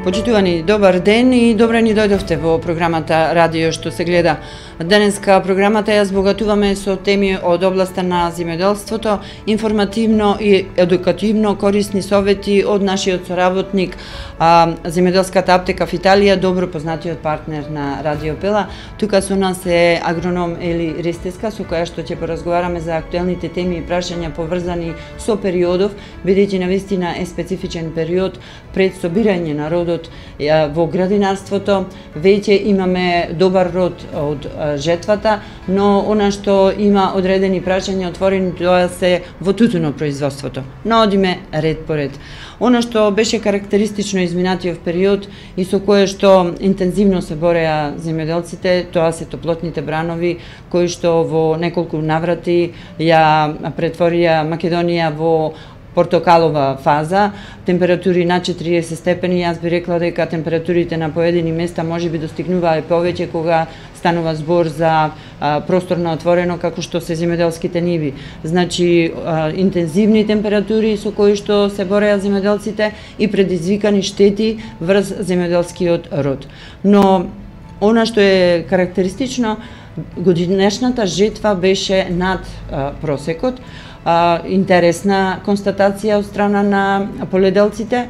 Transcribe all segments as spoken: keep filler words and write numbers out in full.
Почитувани, добар ден и добре ни дојдовте во програмата Радио што се гледа. Денеска програмата ја збогатуваме со теми од областа на земјоделството, информативно и едукативно корисни совети од нашиот соработник, а, земјоделската аптека в Италија, добро познатиот партнер на Радио Пела. Тука со нас е агроном Ели Ристеска, со која што ќе поразговараме за актуелните теми и прашања поврзани со периодов, бидејќи навистина е специфичен период пред собирање на родот во градинарството. Веќе имаме добар род од жетвата, но она што има одредени прашања отворени, тоа се во тутунопроизводството. Но одиме ред по ред. Она што беше карактеристично изминатиот период и со кое што интензивно се бореа земјоделците, тоа се топлотните бранови, кои што во неколку наврати ја претворија Македонија во портокалова фаза, температури на четириесет степени. Јас би рекла дека температурите на поедини места можеби достигнуваа и повеќе кога станува збор за а, простор на отворено, како што се земјоделските ниви. Значи, а, интензивни температури со кои што се бореа земјоделците и предизвикани штети врз земјоделскиот род. Но она што е карактеристично, годинешната жетва беше над а, просекот. Uh, интересна констатација од страна на поледелците,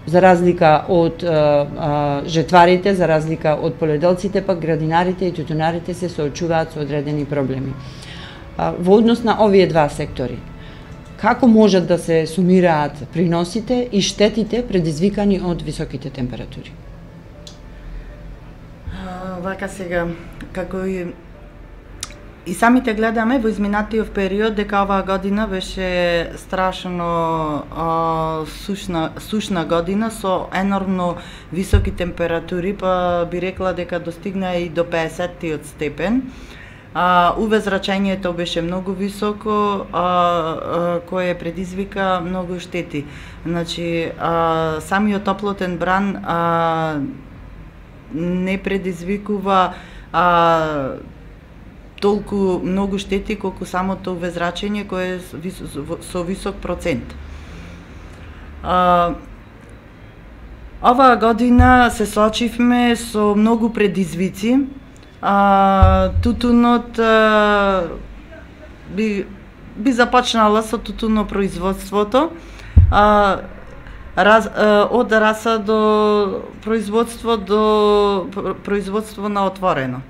за разлика од uh, uh, жетварите, за разлика од поледелците, пак градинарите и тутунарите се соочуваат со одредени проблеми. Uh, во однос на овие два сектори, како можат да се сумираат приносите и штетите предизвикани од високите температури? Uh, вака сега, како и И самите гледаме во изминатиот период дека оваа година беше страшно а, сушна, сушна година со енормно високи температури, па би рекла дека достигна и до педесеттиот степен. А, увезрачењето беше многу високо, а, а, кое предизвика многу штети. Значи, а, самиот топлотен бран а, не предизвикува а, толку многу штети колку самото увезрачење кое е со висок процент. А, оваа година се соочивме со многу предизвици. А, тутунот а, би, би започнала со тутунопроизводството. А, раз, а, од раса до производство до производство на отворено.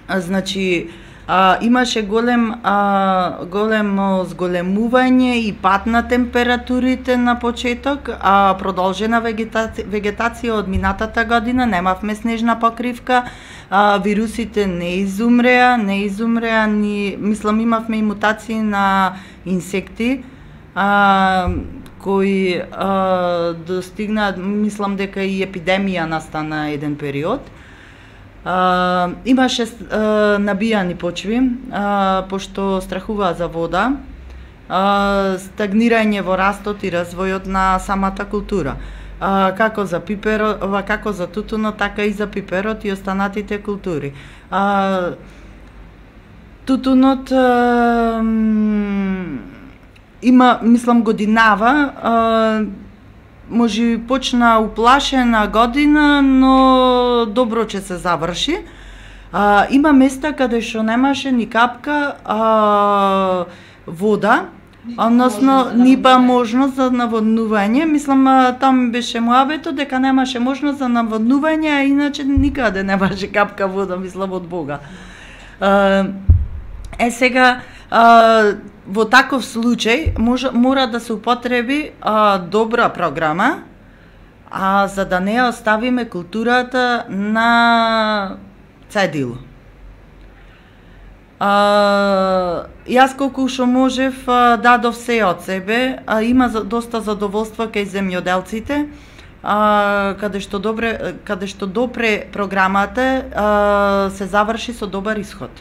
Значи, а, имаше голем, а, големо зголемување и пад на температурите на почеток, а продолжена вегетација, вегетација од минатата година, немавме снежна покривка, а, вирусите не изумреа, не изумреа, ни, мислам, имавме и мутации на инсекти, а, кои а, достигнаат, мислам дека и епидемија настана еден период. Uh, имаше uh, набијани почви, uh, пошто страхуваа за вода, uh, стагнирање во растот и развојот на самата култура. Uh, како за пиперот, како за тутунот, така и за пиперот и останатите култури. Uh, тутунот uh, има, мислам, годинава, uh, може почна уплашена година, но добро ќе се заврши. А, има места каде што немаше ни капка а, вода, односно ни ба можност за наводнување. Мислам, там беше муабето дека немаше можност за наводнување, а иначе никаде немаше капка вода, мислам, од Бога. А, е сега, а, во таков случај може, мора да се употреби а, добра програма, а за да не оставиме културата на цедило. А, јас колку што можев а, дадов се од себе, а има за, доста задоволство кај земјоделците, а, каде што добре, каде што допре програмата а, се заврши со добар исход.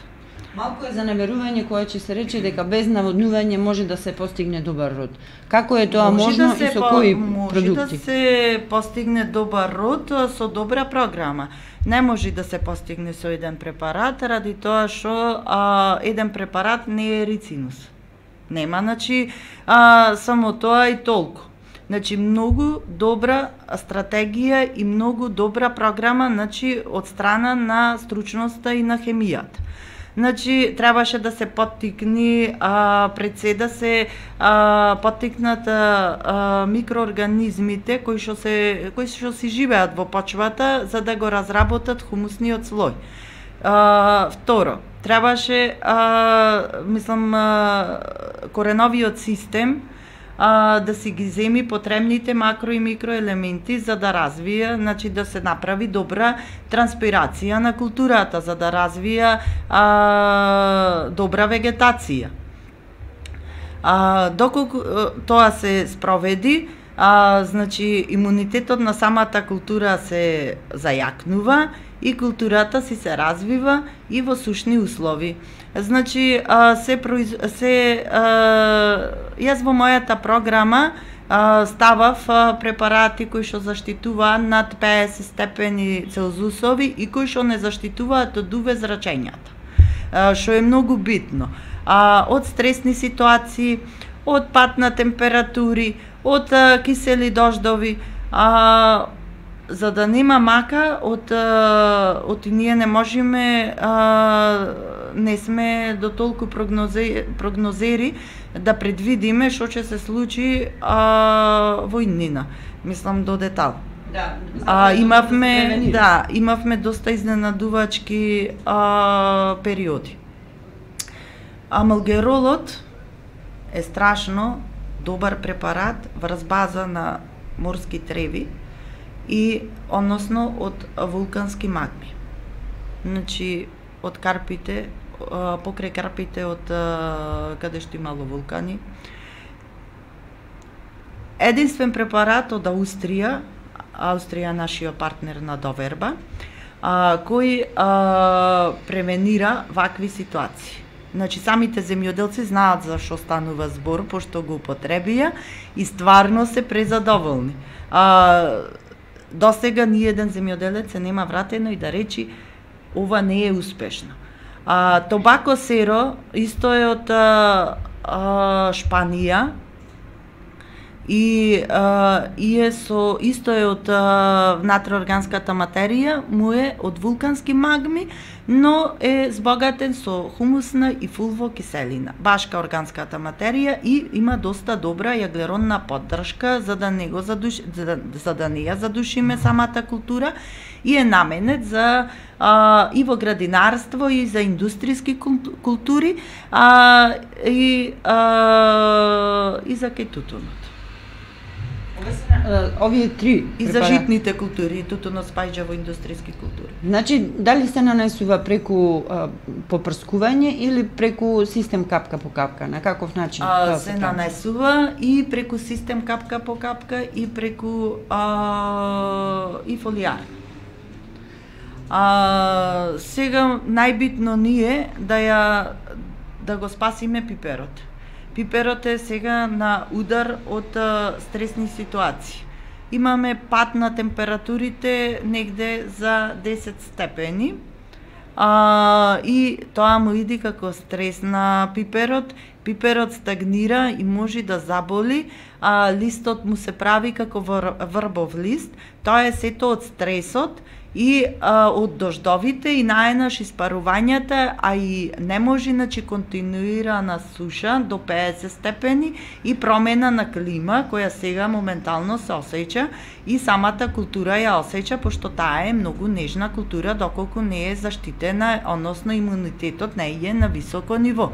Малку е за неверување кое ќе се рече дека без наводнување може да се постигне добар род. Како е тоа може можно да и со по, кои може продукти? Може да се постигне добар род со добра програма. Не може да се постигне со еден препарат, ради тоа што а, еден препарат не е рицинус. Нема, значи, а, само тоа и толку. Значи многу добра стратегија и многу добра програма, значи од страна на стручноста и на хемијата. Значи требаше да се поттикни, а, председа се а, поттикнат а, а, микроорганизмите кои што се кои што си живеат во почвата за да го разработат хумусниот слој. А, второ, требаше а, мислам а, кореновиот систем а, да си ги земи потребните макро и микроелементи за да развие, значи да се направи добра транспирација на културата, за да развија а, добра вегетација. А, доколку тоа се спроведи, а, значи имунитетот на самата култура се зајакнува и културата си се развива и во сушни услови. Значи, а, се, произ... се а, јас во мојата програма а, ставав а, препарати кои што заштитуваат над педесет степени Целзусови и кои што не заштитуваат од УВ зрачењата, а, што е многу битно. А, од стресни ситуации, од пад на температури, од а, кисели дождови, а, за да нема мака од од ние не можеме а, не сме до толку прогнозе, прогнозери да предвидиме што ќе се случи а, во иднина. Мислам до детал. Да, а, имавме да, имавме доста изненадувачки а, периоди. Амалгеролот е страшно добар препарат врз база на морски треви и односно од вулкански магми. Значи од карпите, покрај карпите од каде што имало вулкани. Единствен препарат од Аустрија, Аустрија нашиот партнер на доверба, кој превенира вакви ситуации. Значи самите земјоделци знаат за што станува збор, пошто го употребија и стварно се презадоволни. А, досега ни еден земјоделец се нема вратено и да речи ова не е успешно. А, Тобако серо исто е од а, а, Шпанија и а, и е со исто е од внатреорганската материја, му е од вулкански магми, но е збогатен со хумусна и фулвокиселина, башка органската материја и има доста добра јаглеродна поддршка за да не го задуш... за, да, за да не ја задушиме самата култура и е наменет за а, и во градинарство и за индустријски култури а, и а, и за кетутунот. Овие три и за житните култури, тутунот спаѓа во индустријски култури. Значи, дали се нанесува преку а, попрскување или преку систем капка по капка? На каков начин? А, се нанесува и преку систем капка по капка и преку а, и фолијар. А, сега најбитно ни е да ја да го спасиме пиперот. Пиперот е сега на удар од а, стресни ситуации. Имаме пад на температурите негде за десет степени а, и тоа му иди како стрес на пиперот. Пиперот стагнира и може да заболи, а листот му се прави како врбов лист. Тоа е сето од стресот и а, од дождовите и наеднаш испарувањата, а и не може значи континуирана суша до педесет степени и промена на клима која сега моментално се осеќа и самата култура ја осеќа пошто таа е многу нежна култура доколку не е заштитена, односно имунитетот не е на високо ниво.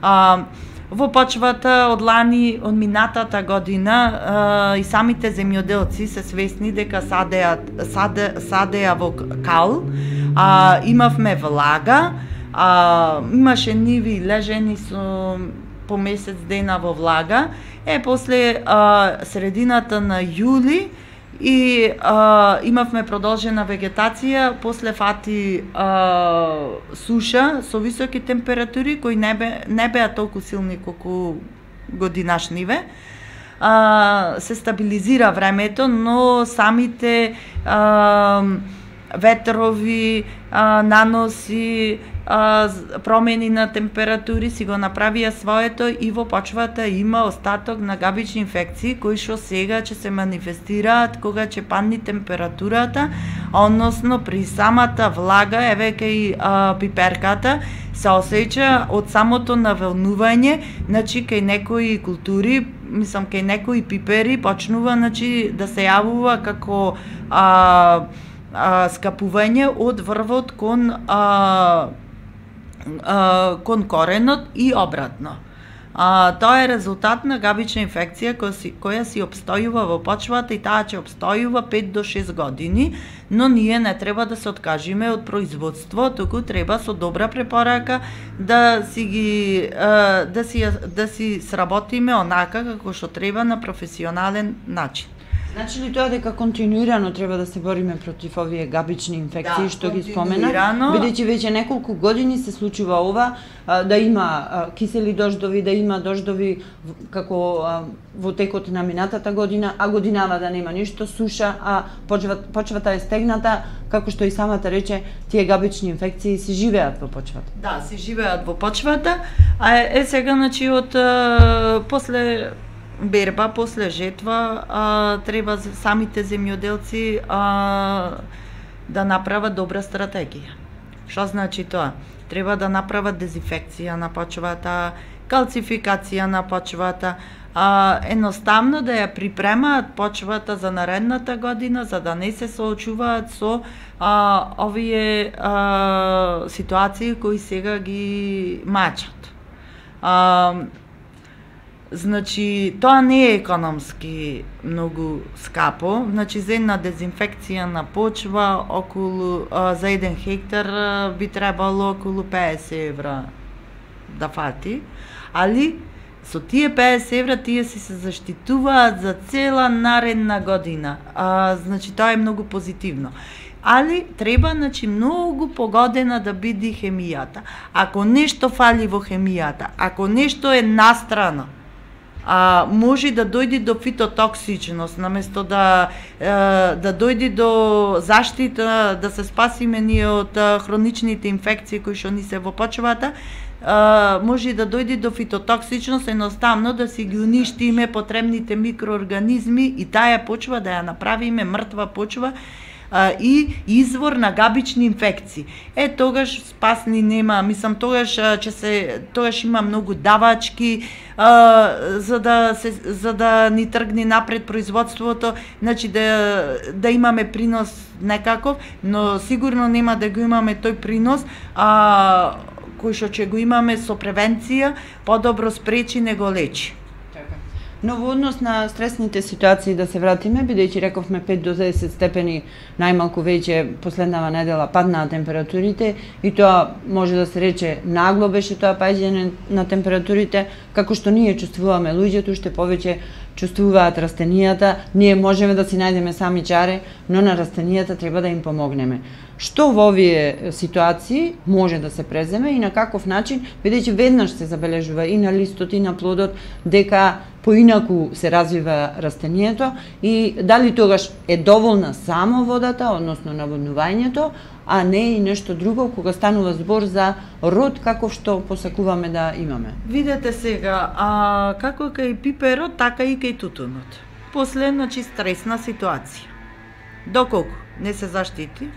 А, Во почвата од лани, од минатата година, а, и самите земјоделци се свесни дека садеа, саде, садеа во кал, а, имавме влага, а, имаше ниви лежени со по месец дена во влага, е после а, средината на јули и а, имавме продолжена вегетација, после фати а, суша со високи температури кои не, бе, не беа толку силни колку годинашниве. А, се стабилизира времето, но самите а, ветрови, а, наноси а, промени на температури си го направија своето и во почвата има остаток на габични инфекции кои што сега ќе се манифестираат кога ќе падне температурата, односно при самата влага, еве кај а, пиперката се осеќа од самото навелнување, значи кај некои култури, мислам кај некои пипери почнува значи да се јавува како а, а, скапување од врвот кон а, а, кон коренот и обратно. А, тоа е резултат на габична инфекција која си, која си обстојува во почвата и таа ќе обстојува пет до шест години, но ние не треба да се откажиме од производство, туку треба со добра препорака да си ги а, да си да си сработиме онака како што треба на професионален начин. Значи ли тоа дека континуирано треба да се бориме против овие габични инфекции, да, што ги спомена, бидејќи веќе неколку години се случува ова, а, да има а, кисели дождови, да има дождови како а, во текот на минатата година, а годинава да нема ништо, суша, а почвата, почвата е стегната, како што и самата рече, тие габични инфекции се живеат во почвата. Да, се живеат во почвата, а е, е сега, значи, од а, после берба, после жетва, а, треба самите земјоделци а, да направат добра стратегија. Што значи тоа? Треба да направат дезинфекција на почвата, калцификација на почвата, а, едноставно да ја припремаат почвата за наредната година, за да не се соочуваат со а, овие а, ситуации кои сега ги мачат. А, Значи, тоа не е економски многу скапо. Значи, за една дезинфекција на почва околу а, за еден хектар а, би требало околу педесет евра да фати, али со тие педесет евра тие си се заштитуваат за цела наредна година. А, значи, тоа е многу позитивно. Али треба, значи, многу погодена да биде хемијата. Ако нешто фали во хемијата, ако нешто е настрано, а, може да дојде до фитотоксичност, наместо да е, да дојде до заштита, да се спасиме ние од хроничните инфекции кои што ни се во почвата, е, може да дојде до фитотоксичност, едноставно да си ги уништиме потребните микроорганизми и таа почва да ја направиме мртва почва и извор на габични инфекции. Е, тогаш спасни нема, мислам, тогаш ќе се тогаш има многу давачки а, за да се за да ни тргне напред производството, значи да да имаме принос некаков, но сигурно нема да го имаме тој принос, а кој што ќе го имаме со превенција, подобро спречи него лечи. Но во однос на стресните ситуации да се вратиме, бидејќи рековме пет до десет степени најмалку веќе последнава недела паднаа температурите и тоа може да се рече нагло беше тоа паѓање на температурите, како што ние чувствуваме луѓето, уште повеќе чувствуваат растенијата, ние можеме да си најдеме сами чаре, но на растенијата треба да им помогнеме. Што во овие ситуации може да се преземе и на каков начин, бидејќи веднаш се забележува и на листот и на плодот дека поинаку се развива растението и дали тогаш е доволна само водата, односно наводнувањето, а не и нешто друго кога станува збор за род каков што посакуваме да имаме. Видете сега, а како кај пиперот, така и кај тутунот. После, значи, стресна ситуација. Доколку не се заштити,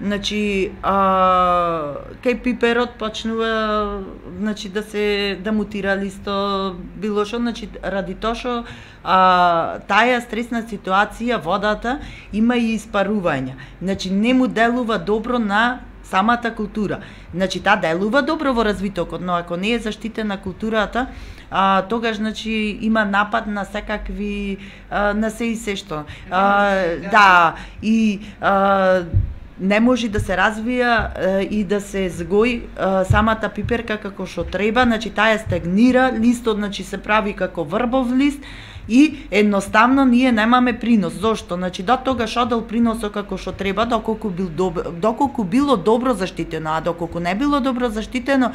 значи, а, кај пиперот почнува, значи, да се да мутира листо, било што, значи, ради тоа што а, таа стресна ситуација, водата има и испарување. Значи, не му делува добро на самата култура. Значи, таа делува добро во развитокот, но ако не е заштитена културата, а, тогаш, значи, има напад на секакви, а, на се и се што. А, да, и а, не може да се развија е, и да се згои е, самата пиперка како што треба, значи таа стагнира, листот, значи, се прави како врбов лист и едноставно ние немаме принос. Зошто? Значи до тогаш одел приносот како што треба, доколку бил добро, доколку било добро заштитено, а доколку не било добро заштитено,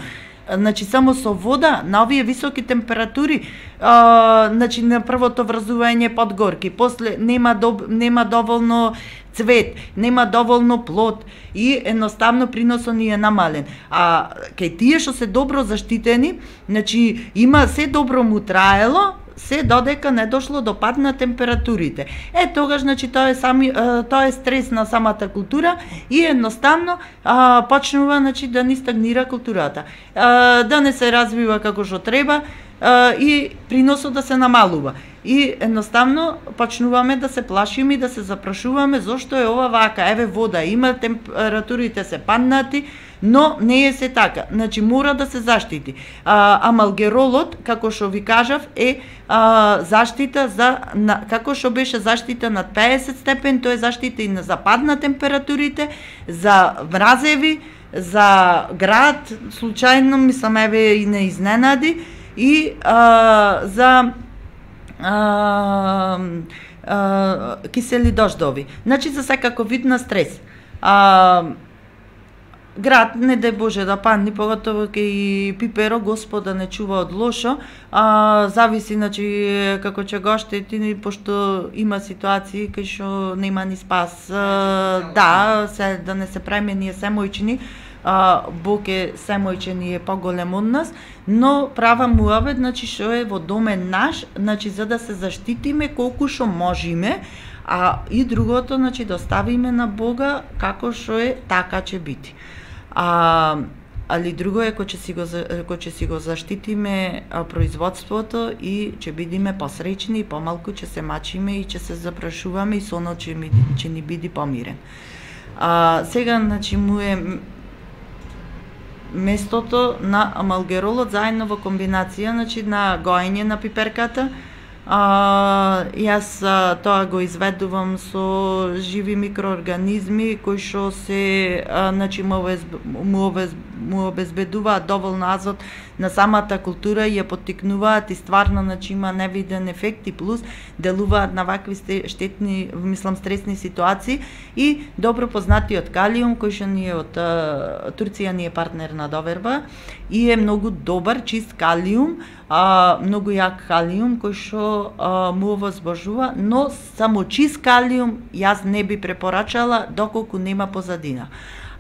значи само со вода на овие високи температури, а, значи на првото врзување подгорки, после нема доб, нема доволно цвет, нема доволно плод и едноставно приносот ни е намален. А кај тие што се добро заштитени, значи има се добро му траело, се додека не дошло до пад на температурите. Е, тогаш, значи, тоа е, сами, тоа е стрес на самата култура и едноставно а, почнува, значи, да ни стагнира културата. А, да не се развива како што треба а, и приносот да се намалува. И едноставно почнуваме да се плашиме и да се запрашуваме зошто е ова вака. Еве вода, има температурите се паднати, но не е се така. Значи мора да се заштити. А, амалгеролот, како што ви кажав, е а, заштита за на, како што беше заштита над педесет степен, тоа е заштита и на западна температурите, за мразеви, за град, случајно мислам еве и не изненади, и а, за а, а, кисели дождови. Значи за секако вид на стрес. А, град, не дај Боже да падни, поготово кај пиперо, Господ да не чува од лошо, а, зависи, значи, како ќе го штети, пошто има ситуации кај што нема ни спас. А, да, се, да не се правиме ние се мојчини, а, Бог е се мојчини, е поголем од нас, но права муавет, значи, што е во домен наш, значи, за да се заштитиме колку што можеме, а и другото, значи, да оставиме на Бога како што е, така ќе биде. А, али друго е кој ќе си го кој ќе си го заштитиме а, производството и ќе бидиме посреќни и помалку ќе се мачиме и ќе се запрашуваме и сонот ќе ми ќе ни биде помирен. А, сега, значи, му е местото на амалгеролот заедно во комбинација, значи, на гоење на пиперката. А, јас а, тоа го изведувам со живи микроорганизми кои што се а, значи му, обез, му, обез, му обезбедуваат доволно азот на самата култура и ја поттикнуваат и стварно, значи, има невиден ефект и плюс делуваат на вакви штетни, мислам, стресни ситуации и добро познатиот калиум кој што ни е од а, Турција, ни е партнер на доверба и е многу добар чист калиум, а, многу јак калиум кој што а, му возбожува, но само чист калиум јас не би препорачала доколку нема позадина.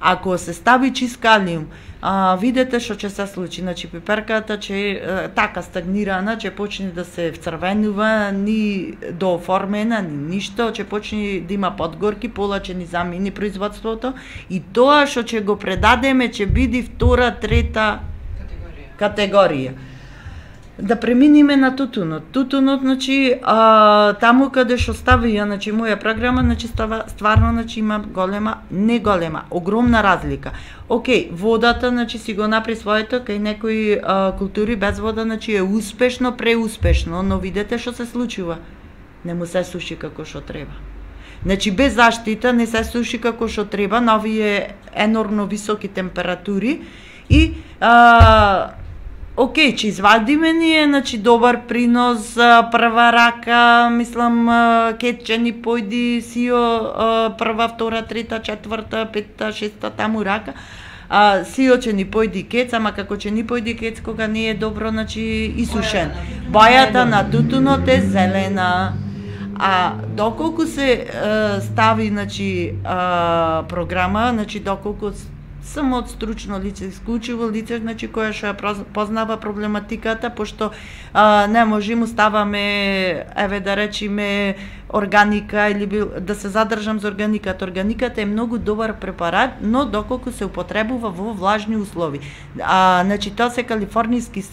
Ако се стави чист калиум, а, видете што ќе се случи. Значи пиперката ќе а, така стагнирана, ќе почне да се вцрвенува, ни дооформена, ни ништо, ќе почне да има подгорки, пола ќе ни замени производството и тоа што ќе го предадеме ќе биде втора, трета категорија. категорија. Да преминиме на тутунот. Тутунот, значи, а, таму каде што ставија, значи, моја програма, значи, става, стварно, значи, има голема, не голема, огромна разлика. Океј, водата, значи, си го напри своето, кај некои а, култури без вода, значи, е успешно, преуспешно, но видете што се случува. Не му се суши како што треба. Значи, без заштита не се суши како што треба, на овие енормно високи температури и а, океј, ќе извадиме ние, значи, добар принос, прва рака, мислам, ке ќе ни појди сио прва, втора, трета, четврта, петта, шеста, таму рака, а, сио ќе ни појди кец, ама како ќе ни појди кец кога не е добро, значи, исушен. Бојата на тутунот е зелена. А доколку се е, стави, значи, а, програма, значи, доколку само од стручно лице, исклучиво лице, значи, кое што ја познава проблематиката, пошто а, не можеме ставаме, еве да речеме, органика или бил, да се задржам за органиката. Органиката е многу добар препарат, но доколку се употребува во влажни услови. А, значи, тоа се калифорнијски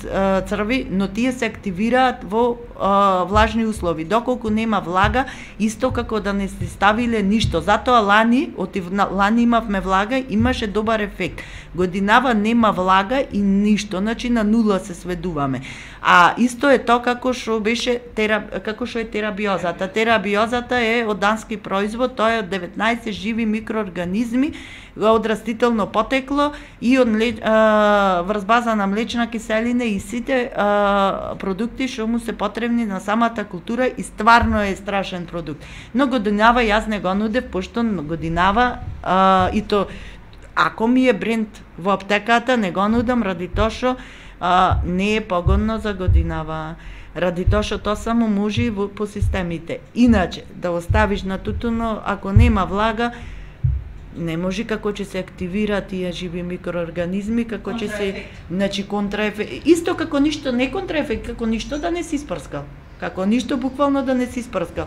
црви, но тие се активираат во а, влажни услови. Доколку нема влага, исто како да не се ставиле ништо. Затоа лани, отив, лани имавме влага, имаше добар ефект. Годинава нема влага и ништо, значи на нула се сведуваме. А исто е тоа како што беше тера, како што е терабиозата. Терабиозата е од дански производ, тоа е од деветнаесет живи микроорганизми од растително потекло и од врз база на млечна киселина и сите а, продукти што му се потребни на самата култура и стварно е страшен продукт. Но годинава јас не го нудев, пошто годинава а, и то ако ми е бренд во аптеката, не го нудам ради тоа што а, не е погодно за годинава. Ради тоа што тоа само може во, по системите. Иначе, да оставиш на тутуно, ако нема влага, не може како ќе се активира тие живи микроорганизми, како ќе се, значи контраефект. Исто како ништо, не контраефект, како ништо да не си испрскал. Како ништо буквално да не си испрскал.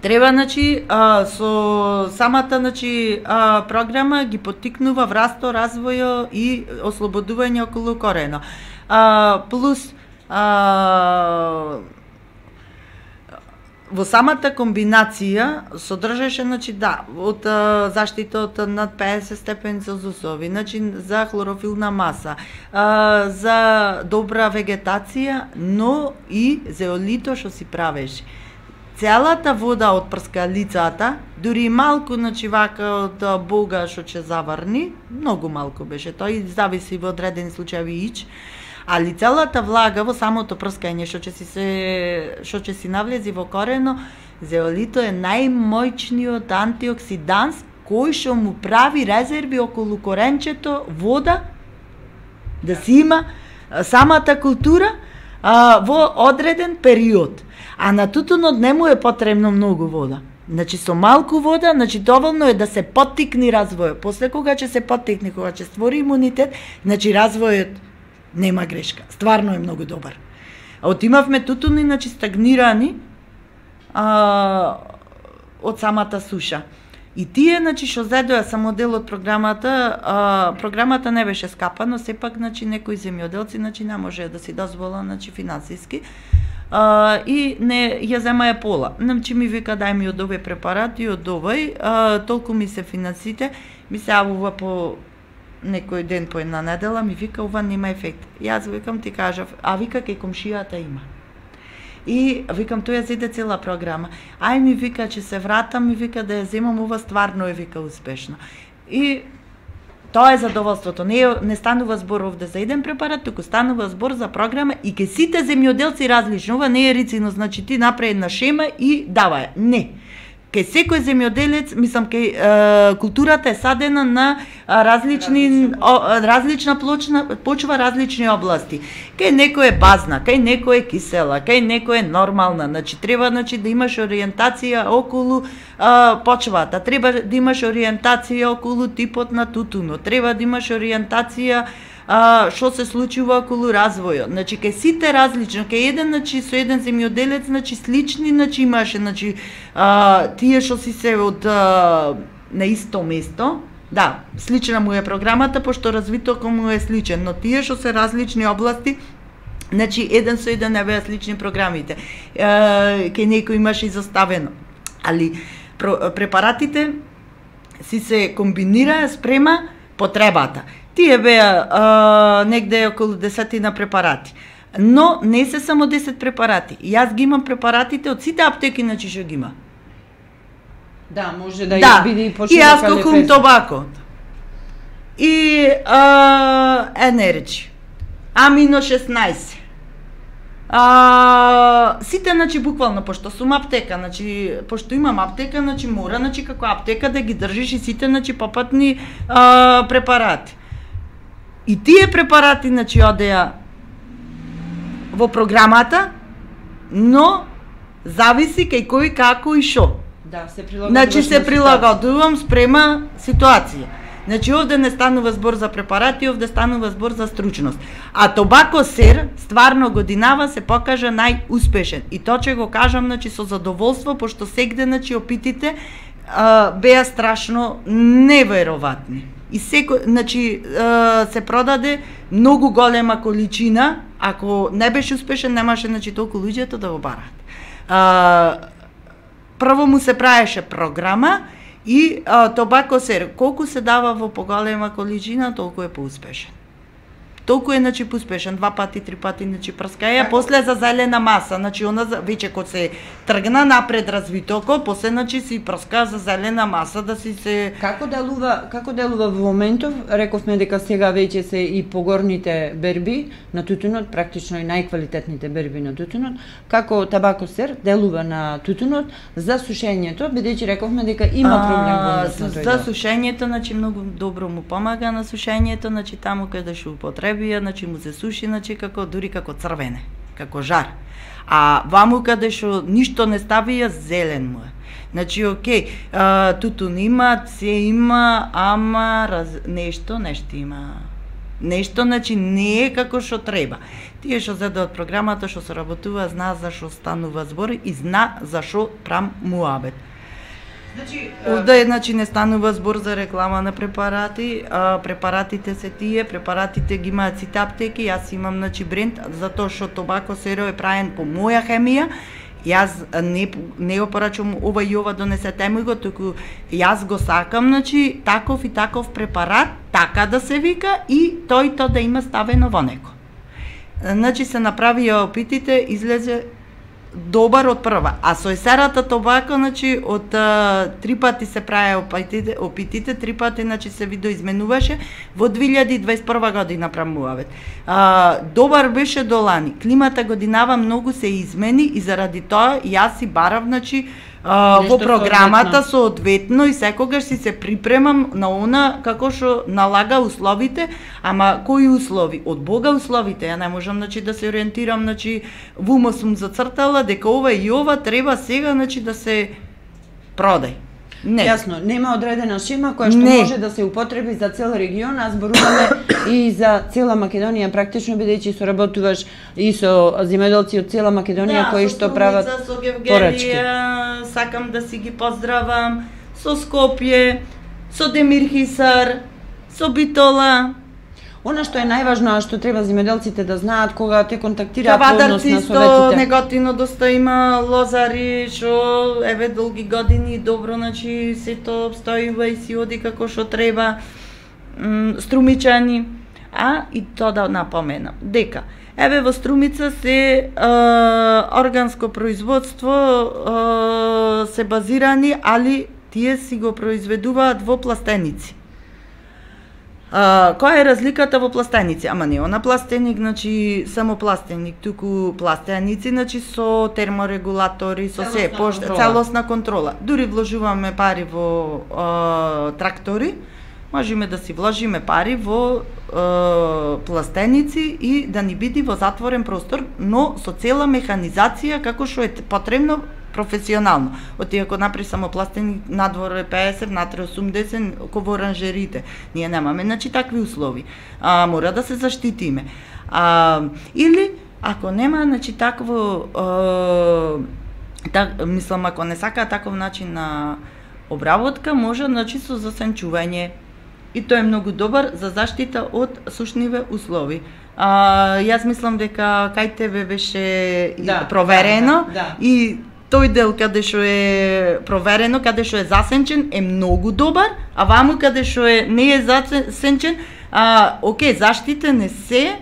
Треба, значи, а, со самата, значи, а, програма ги поттикнува врасто, развојо и ослободување околу корено. А, плюс а, во самата комбинација содржаше, значи, да, од а, заштита од над педесет степени Целзиусови, значи, за хлорофилна маса, а, за добра вегетација, но и зеолито што си правеше. Целата вода од прскалицата, дури малку, значи, вака од бога што ќе заврни, многу малку беше, тој зависи во одредени случаи ич, али целата влага во самото прскање што ќе си се што ќе си навлези во корено, зеолито е најмоćниот антиоксиданс кој што му прави резерви околу коренчето, вода да си има самата култура а, во одреден период. А на тутунот не му е потребно многу вода. Значи со малку вода, значи доволно е да се поттикни развојот. После кога ќе се поттикне, кога ќе створи имунитет, значи развојот нема грешка. Стварно е многу добар. А отимавме тутуни, значи стагнирани а, од самата суша. И тие, значи, што зедоа само дел од програмата, а, програмата не беше скапа, но сепак, значи, некои земјоделци, значи, не може да си дозвола, значи, финансиски, а, и не ја земаја пола. Значи, ми вика, дај ми од овој препарат и од овој, а, толку ми се финансите, ми се јавува по некој ден, по една недела, ми вика, ова нема ефект. Јас викам, ти кажав, а вика, кај комшијата има. И викам, тој ја зеде цела програма. Ај ми вика, че се вратам, ми вика да ја земам, ова стварно е, вика, успешно. И тоа е задоволството. Не, не станува збор овде за еден препарат, туку станува збор за програма и ке сите земјоделци различно. Ова не е рицино, значи ти направи една шема и давај. Не. Кај секој земјоделец, мислам, кај е, културата е садена на различни, о, различна плочна, почва различни области. Кај некој е базна, кај некој е кисела, кај некој е нормална. Значи, треба, значи, да имаш ориентација околу а, почвата, треба да имаш ориентација околу типот на тутуно, треба да имаш ориентација а, што се случува околу развојот. Значи, кај сите различно, кај еден, значи, со еден земјоделец, значи, слични, значи, имаше, значи, а, тие што си се од а, на исто место, да, слична му е програмата, пошто развитокот му е сличен, но тие што се различни области, значи, еден со еден не беа слични програмите. Е, кај некој имаше изоставено. Али, препаратите си се комбинираа спрема потребата. Тие беа а, негде околу десетина препарати. Но не се само десет препарати. Јас ги имам препаратите од сите аптеки, значи што ги има. Да, може да, да. биде и почнува. И јас кокум тобако. И а, енерджи. Амино шеснаесет. А, сите, значи, буквално, пошто сум аптека, значи, пошто имам аптека, значи, мора, значи, како аптека да ги држиш и сите, значи, попатни а, препарати. И тие препарати, значи, одеа во програмата, но зависи кај кој, како и шо. Да, се прилагодуваш. Значи, се прилагодувам спрема ситуација. Значи, овде не станува збор за препарати, овде станува збор за стручност. А Тобако Сер, стварно годинава, се покажа најуспешен. И тоа ќе го кажам, значи, со задоволство, пошто сегде, значи, опитите а, беа страшно невероватни. И секој, значи, а, се продаде многу голема количина, ако не беше успешен, немаше, значи, толку луѓето да го барат. А, прво му се правеше програма, и а, Тобако Сер, колку се дава во поголема количина, толку е поуспешен. Толку е, значи, поуспешен, два пати, три пати, значи, прскаја, после за зелена маса, значи, она веќе кога се тргна напред развитоко, после значи си проска за зелена маса да си се Како делува, како делува во моментов? Рековме дека сега веќе се и погорните берби на тутунот, практично и најквалитетните берби на тутунот. Како табакосер делува на тутунот за сушењето, бидејќи рековме дека има проблем во однос на тој за дел. сушењето, значи многу добро му помага на сушењето, значи таму каде што употребија, значи му се суши, значи како дури како црвене, како жар. А ваму каде што ништо не ставија, зелен му е. Значи, окей, а, тутун има, се има, ама раз... нешто, нешто има. Нешто, значи, не е како што треба. Тие што зеде од програмата, што се работува, зна за што станува збор и зна за што прам муабет. Значи, овде значи не станува збор за реклама на препарати, а, препаратите се тие, препаратите ги имаат сите аптеки, јас имам значи бренд затоа што Тобако Серо е правен по моја хемија. Јас не не го порачувам ова и ова донесете ми го, туку јас го сакам, значи таков и таков препарат, така да се вика и тој то да има ставено во него. Значи се направија опитите, излезе добар од прва. А со есерата Тобако, значи од а, три пати се праја опитите, опитите, три пати значи се видоизменуваше во две илјади и дваесет и прва година прамувавет. А, добар беше до лани. Климата годинава многу се измени и заради тоа јас си барав значи а, во програмата соодветно и секогаш си се припремам на она како што налага условите, ама кои услови? Од Бога условите. Ја не можам значи да се ориентирам, значи во ума сум зацртала дека ова и ова треба сега значи да се продај. Не. Јасно, нема одредена шема која што не. може да се употреби за цел регион, а зборуваме и за цела Македонија, практично бидејќи соработуваш и со земјоделци од цела Македонија да, кои што прават со порачки. Сакам да си ги поздравам, со Скопје, со Демир Хисар, со Битола. Она што е најважно, а што треба земјоделците да знаат кога те контактираат во однос Кавадарци на исто, советите. неготино доста има лозари, што еве долги години добро, значи сето обстојува и си оди како што треба, м, струмичани. А и тоа да напоменам, дека еве во Струмица се е, органско производство е, се базирани, али тие си го произведуваат во пластеници. Uh, која е разликата во пластеници? Ама не она пластеник, значи само пластеник, туку пластеници, значи со терморегулатори, со се, пошт, целосна контрола. Дури вложуваме пари во uh, трактори, можеме да си вложиме пари во uh, пластеници и да ни биде во затворен простор, но со цела механизација како што е потребно професионално. Оти ако направи само пластеник, надвор е пеесет, внатре осумдесет, ко во оранжерите. Ние немаме, значи, такви услови. А, мора да се заштитиме. А, или, ако нема, значи, такво, а, так, мислам, ако не сака таков начин на обработка, може, значи, со засенчување. И тоа е многу добар за заштита од сушниве услови. А, јас мислам дека кај тебе беше да, проверено да, да. и тој дел каде што е проверено, каде што е засенчен е многу добар, а ваму каде што е не е засенчен, а окей, заштитен е се,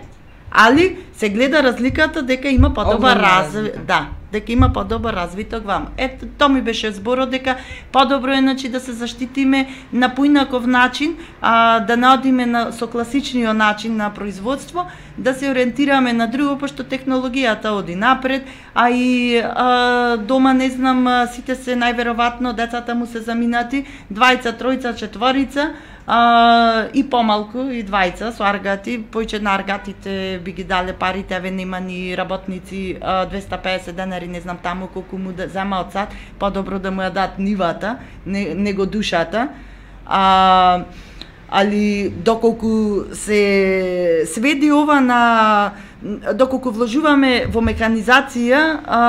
али се гледа разликата дека има подобар развит, да, дека има подобар развиток ваму. Ето, тоа ми беше зборот дека подобро е значи да се заштитиме на поинаков начин, а да не одиме на со класичниот начин на производство, да се ориентираме на друго, пошто технологијата оди напред, а и а, дома не знам, сите се најверојатно децата му се заминати, двајца, тројца, четворица, а, и помалку, и двајца со аргати, појче на аргатите би ги дале парите, еве нема ни работници, а, двеста и песет денари, не знам таму колку му да зема од сад, подобро да му ја дадат нивата, не, него душата. А, али доколку се сведи ова на доколку вложуваме во механизација а,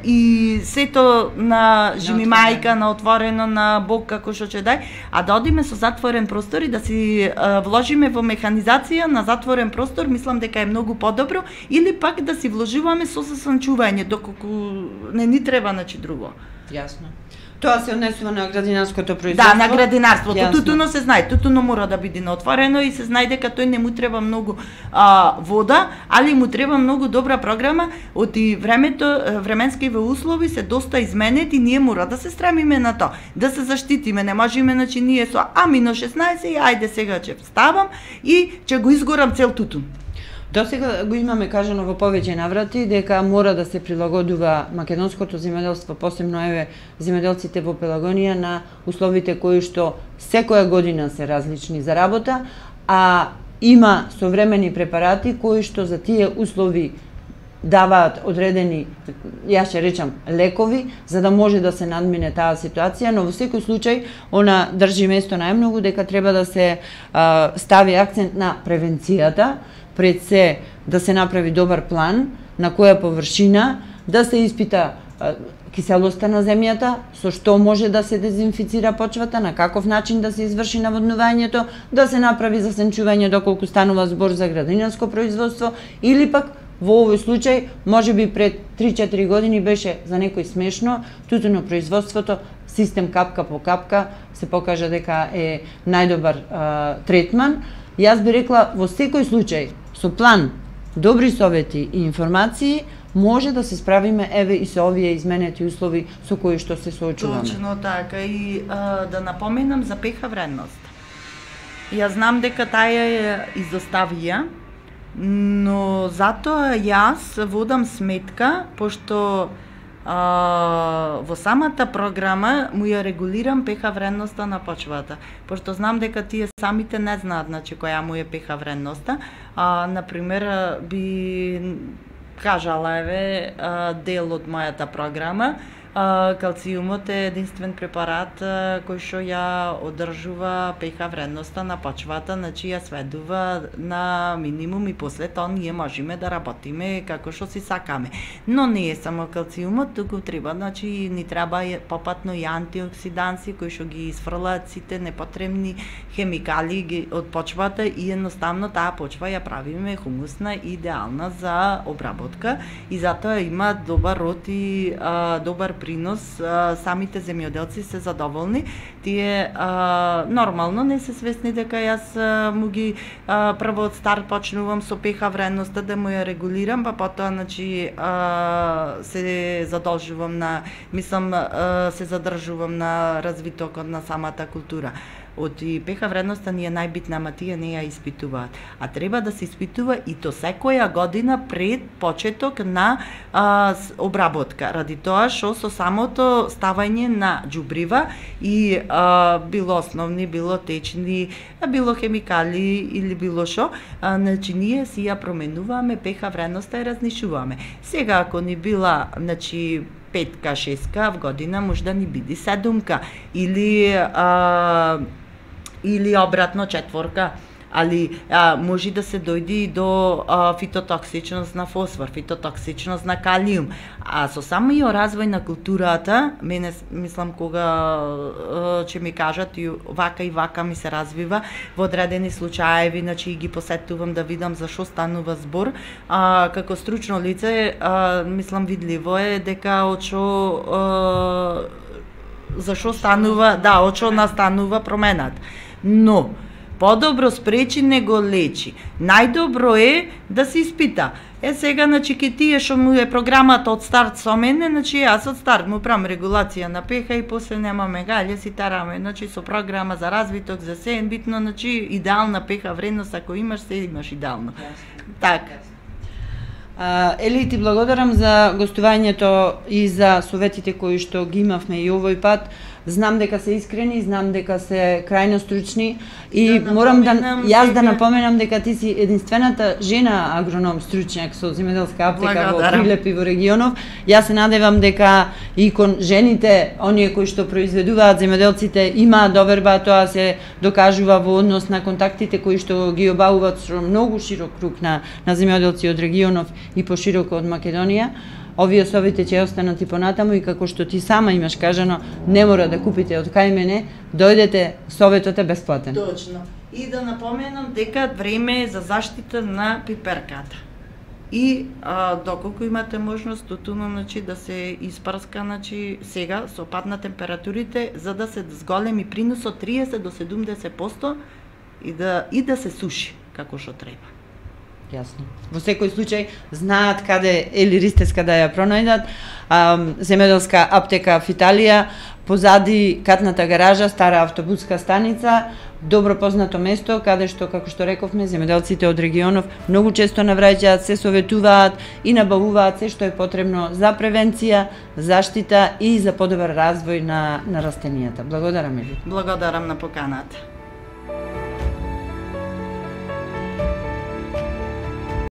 и сето на жими мајка, на отворено, на Бог како што ќе дај, а да одиме со затворен простор и да си а, вложиме во механизација на затворен простор, мислам дека е многу подобро, или пак да си вложуваме со засанчување, доколку не ни треба начи друго. Јасно. Тоа се однесува на градинарското производство? Да, на градинарството. Јасно. Тутуно се знае, тутуно мора да биде на отворено и се знае дека тој не му треба многу а, вода, али му треба многу добра програма. Оти времето, временскиве услови се доста изменет и ние мора да се стремиме на тоа, да се заштитиме. Не можеме, значи ние со а минус шеснаесет и ајде сега ќе ставам и ќе го изгорам цел тутун. До сега го имаме кажано во повеќе наврати дека мора да се прилагодува македонското земјоделство, посебно еве земјоделците во Пелагонија, на условите кои што секоја година се различни за работа, а има современи препарати кои што за тие услови даваат одредени, јас ќе речам, лекови, за да може да се надмине таа ситуација, но во секој случај она држи место најмногу дека треба да се а, стави акцент на превенцијата, пред се да се направи добар план на која површина да се испита а, киселоста на земјата, со што може да се дезинфицира почвата, на каков начин да се изврши наводнувањето, да се направи засенчување доколку станува збор за градинарско производство, или пак во овој случај, може би пред три-четири години беше за некој смешно, тутуно производството, систем капка по капка, се покажа дека е најдобар а, третман. Јас би рекла, во секој случај, со план, добри совети и информации, може да се справиме еве и со овие изменети услови со кои што се соочуваме. Точно така, и а, да напоменам за пеха вредност. Ја знам дека таа е изоставија, но затоа јас водам сметка, пошто а, во самата програма му ја регулирам пеха вредноста на почвата, пошто знам дека тие самите не знаат, значи, која му е пеха вредноста. А, например, би кажала, еве, дел од мојата програма, калциумот е единствен препарат кој што ја одржува пеха вредноста на почвата, значи ја сведува на минимум и после тоа ние можеме да работиме како што си сакаме. Но не е само калциумот, туку треба, значи ни треба попатно и антиоксиданси кои што ги изфрлаат сите непотребни хемикали од почвата и едноставно таа почва ја правиме хумусна и идеална за обработка и затоа има добар род и а, добар принос, а, самите земјоделци се задоволни. Тие а, нормално не се свесни дека јас а, му ги а, прво од старт почнувам со пеха вредноста да му ја регулирам, па потоа, значи, а, се задолжувам на, мислам, а, се задржувам на развитокот на самата култура. Од и пеха вредноста ни е најбитна, ама тие не ја испитуваат. А треба да се испитува и то секоја година пред почеток на а, обработка. Ради тоа што со самото ставање на џубрива и а, било основни, било течни, било хемикали или било што, значи ние си ја променуваме пеха вредноста и разнишуваме. Сега ако ни била, значи, петка, шестка в година, може да ни биде седумка или а, или обратно четворка, али а, може да се дојде и до а, фитотоксичност на фосфор, фитотоксичност на калиум. А со самиот развој на културата, мене мислам кога а, ќе ми кажат и вака и вака ми се развива во одредени случаеви, значи ги посетувам да видам за што станува збор. А, како стручно лице, а, мислам видливо е дека од што за што станува, да, од што настанува промената. Но подобро спречи него лечи. Најдобро е да се испита. Е сега, значи, ке тие што му е програмата од старт со мене, значи јас од старт му правам регулација на пеха и после немаме гаље, си тараме, значи со програма за развиток, за се, битно, значи идеална пеха вредност, ако имаш се, имаш идеално. Така. Ели, ти благодарам за гостувањето и за советите кои што ги имавме и овој пат. Знам дека се искрени, знам дека се крајно стручни и да морам да јас да напоменам дека ти си единствената жена агроном стручњак со земјоделска аптека во Прилеп и во регионов. Јас се надевам дека и кон жените, оние кои што произведуваат, земјоделците, има доверба, тоа се докажува во однос на контактите кои што ги обавуваат со многу широк круг на на земјоделци од регионов и пошироко од Македонија. Овие совети ќе останат и понатаму и како што ти сама имаш кажано, не мора да купите од кај мене, дојдете, советот е бесплатен. Точно. И да напоменам дека време е за заштита на пиперката. И а, доколку имате можност тутунот значи да се испрска значи сега со пад на температурите за да се зголеми принос од триесет до седумдесет проценти и да и да се суши како што треба. Јасно. Во секој случај знаат каде или ристеска да ја пронајдат. А, земјоделска аптека в Италија, позади катната гаража, стара автобуска станица, добро познато место каде што, како што рековме, земјоделците од регионов многу често навраќаат, се советуваат и набавуваат се што е потребно за превенција, заштита и за подобар развој на на растенијата. Благодарам ви. Благодарам на поканата.